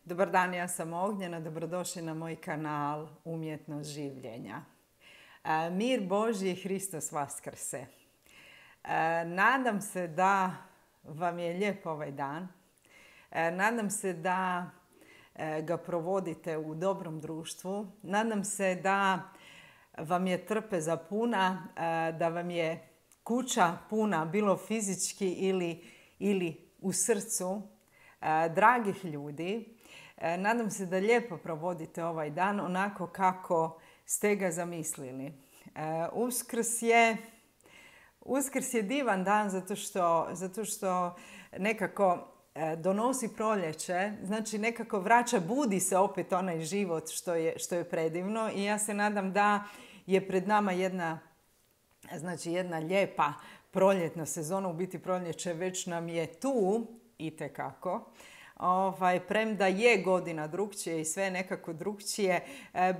Dobar dan, ja sam Ognjena, dobrodošli na moj kanal Umjetnost življenja. Mir Božji, Hristos Vaskrse. Nadam se da vam je lijep ovaj dan. Nadam se da ga provodite u dobrom društvu. Nadam se da vam je trpeza puna, da vam je kuća puna, bilo fizički ili u srcu, dragih ljudi. Nadam se da lijepo provodite ovaj dan onako kako ste ga zamislili. Uskrs je divan dan zato što nekako donosi proljeće, znači nekako vraća, budi se opet onaj život što je predivno i ja se nadam da je pred nama jedna lijepa proljetna sezona, u biti proljeće već nam je tu itekako. Premda je godina drukčije i sve nekako drukčije,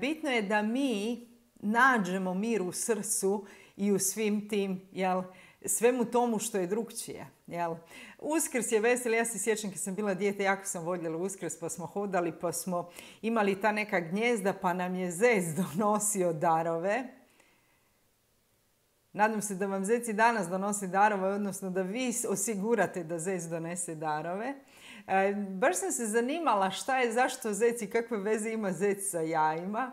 bitno je da mi nađemo mir u srcu i u svim tim, svemu tomu što je drukčije. Uskrs je vesel, ja se sjećam kad sam bila dijete, jako sam voljela Uskrs, pa smo hodali, pa smo imali ta neka gnjezda, pa nam je zec donosio darove. Nadam se da vam zec i danas donosi darove, odnosno da vi osigurate da zec donese darove. Baš sam se zanimala šta je, zašto zec i kakve veze ima zec sa jajima.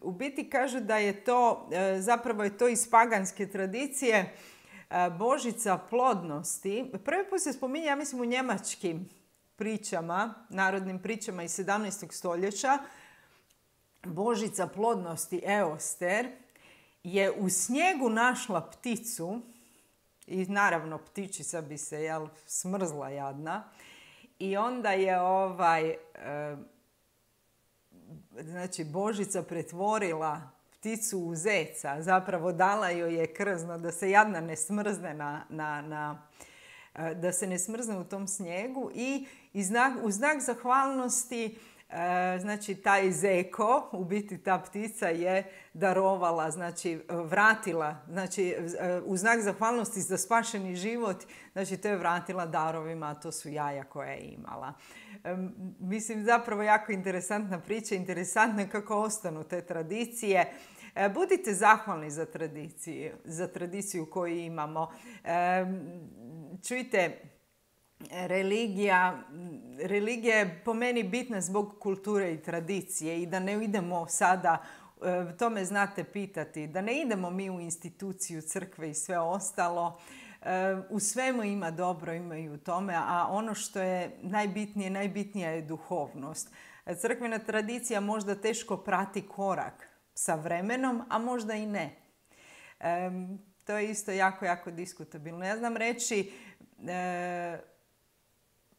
U biti kažu da je to, zapravo je to iz paganske tradicije, božica plodnosti. Prvi put se spominje, ja mislim, u njemačkim pričama, narodnim pričama iz 17. stoljeća. Božica plodnosti Eoster je u snijegu našla pticu i naravno ptičica bi se smrzla jadna i onda je Božica pretvorila pticu u zeca, zapravo dala joj je krzno da se jadna ne smrzne da se ne smrzne u tom snijegu i u znak zahvalnosti taj zeko, u biti ta ptica je darovala, vratila, u znak zahvalnosti za spašeni život, to je vratila darovima, a to su jaja koje je imala. Mislim, zapravo jako interesantna priča, interesantno je kako ostanu te tradicije. Budite zahvalni za tradiciju koju imamo. Čujte, Religija je po meni bitna zbog kulture i tradicije i da ne idemo sada, to me znate pitati, da ne idemo mi u instituciju crkve i sve ostalo. U svemu ima dobro, ima i u tome, a ono što je najbitnija je duhovnost. Crkvena tradicija možda teško prati korak sa vremenom, a možda i ne. To je isto jako diskutabilno. Ja znam reći,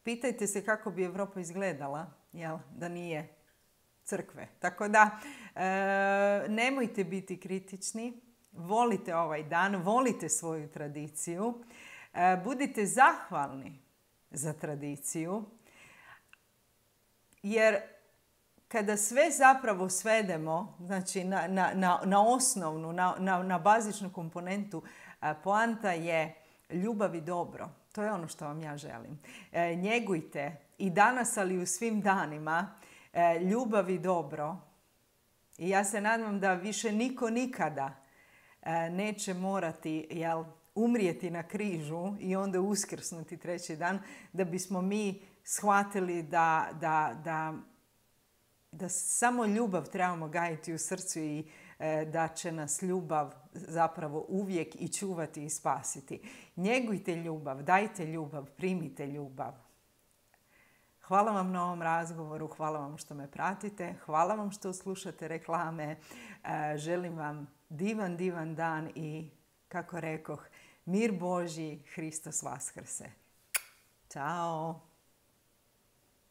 pitajte se kako bi Europa izgledala, da nije crkve. Tako da, nemojte biti kritični, volite ovaj dan, volite svoju tradiciju, budite zahvalni za tradiciju, jer kada sve zapravo svedemo, na osnovnu, na bazičnu komponentu, poanta je ljubav i dobro. To je ono što vam ja želim. Njegujte i danas, ali i u svim danima, ljubav i dobro. I ja se nadam da više niko nikada neće morati umrijeti na križu i onda uskrsnuti treći dan, da bismo mi shvatili da samo ljubav trebamo gajiti u srcu i da će nas ljubav zapravo uvijek i čuvati i spasiti. Njegujte ljubav, dajte ljubav, primite ljubav. Hvala vam na ovom razgovoru, hvala vam što me pratite, hvala vam što slušate reklame. Želim vam divan dan i, kako rekoh, mir Božji, Hristos Vaskrse. Ćao!